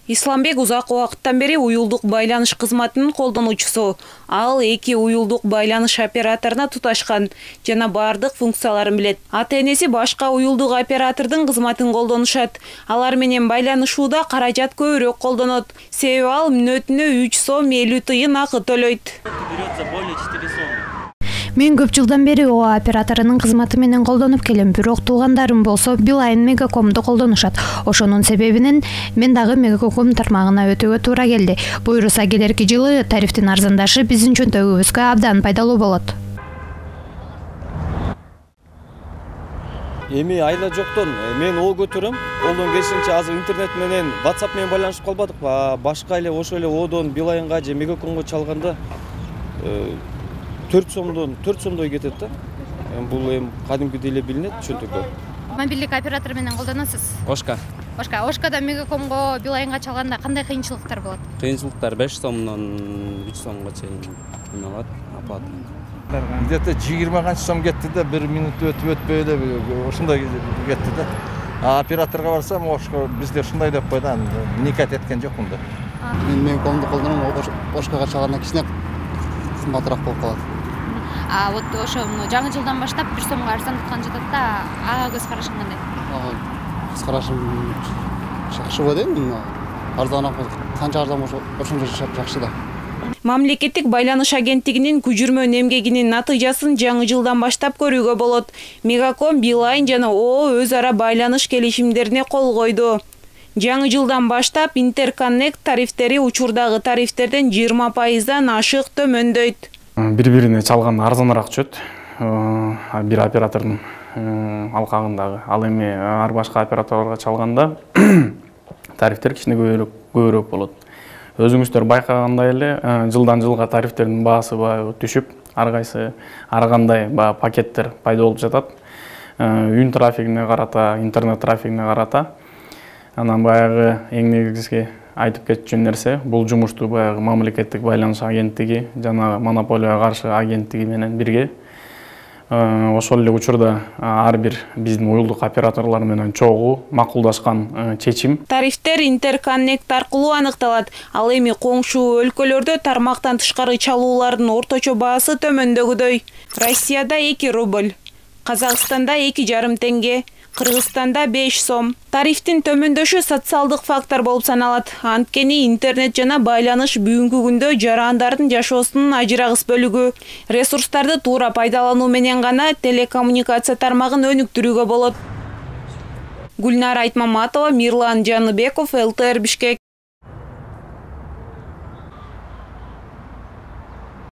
Исламбек узак убакыттан бери уюлдук байланыш кызматынын колдонуучусу. Ал 2 уюлдук байланыш операторуна туташкан жана бардык функцияларын билет. Ата-энеси башка уюлдук оператордун кызматын колдонушат. Алар менен байланышууда каражат көбүрөөк колдонот. Себеби ал мүнөтүнө 3 сом 50 тыйын акы төлөйт. Мен көп жылдан бери ОА операторунун кызматы менен колдонуп келем, бирок туугандарым болсо Билайн Мегакомду колдонушат. Ошонун себебинен мен дагы Мегаком тармагына өтүүгө туура келди. Буюрса келерки жылы тарифтин арзандашы биздин чөнтөгүбүзгө абдан пайдалуу болот. Эми айла жоктон мен ол көтөрөм. Колдон келишинче азыр интернет менен WhatsApp менен байланышып калбадык. Башка эле ошо эле Одон Билайнга же Мегакомго чалганда 4 сомдой кетет да. Бул эми кадимкидей эле билинет чөнтөккө. Мобилдик оператор менен колдоносуз? Ошкада Мегакомго Билайнга чалганда кандай кыйынчылыктар болот? Кыйынчылыктар 5 сомдон 3 сомго чейин алат оплата. Где-то 20 канча сом кетти да, 1 минут өтпөй эле ошондой кетти да. Операторго барсам, ошко бизде ушундай деп койду, никат эткен жокмун да. Мен Мегакомду колдоном, ошкага чалганда кичине кымбатыраак болуп калат. Вот ошо жаңы жылдан баштап 1 сомго арзандыткан жатат да, ага көз карашың кандай? Көз карашым жакшы го дейм. Арзаныраак канча арзан болсо ошончо жакшы да. Мамлекеттик байланыш агенттигинин көжүрмөн эмгегинин натыйжасын жаңы жылдан баштап көрүүгө болот. Мегаком, Билайн жана ООО өз ара байланыш келишимдерине кол койду. Жаңы жылдан баштап интерконнект тарифтери учурдагы тарифтерден 20%дан ашык төмөндөйт. Бири-бирине чалганда арзаныраак түшөт. Бир оператордун алкагындагы. Ал эми ар башка операторлорго чалганда тарифтер кичине көбүрөөк болот. Өзүңүздөр байкагандай эле жылдан жылга тарифтердин баасы түшүп, ар кайсы ар кандай пакеттер пайда болуп жатат. Үн трафигине карата, интернет трафигине карата. Анан баягы эң негизги айтып кетчү нерсе, бул жумушту баягы мамлекеттик байланыш агенттиги жана монополияга каршы агенттиги менен бирге ошол эле учурда ар бир биздин уюлдук операторлор менен чогуу макулдашкан чечим. Тарифтер интерконнект аркылуу аныкталат. Ал эми коңшу өлкөлөрдө тармактан тышкары чалуулардын орточо баасы төмөндөгүдөй. Россияда 2 рубль, Казакстанда 2,5 тенге, Кыргызстанда 5 сом. Тарифтин төмөндөшү социалдык фактор болуп саналат. Анткени интернет жана байланыш бүгүнкү күндө жарандардын жашоосунун ажырагыс бөлүгү. Ресурстарды туура пайдалануу менен гана телекоммуникация тармагын өнүктүрүүгө болот. Гүлнара Айтмаматова, Мирлан Жаныбеков, ЛТР Бишкек.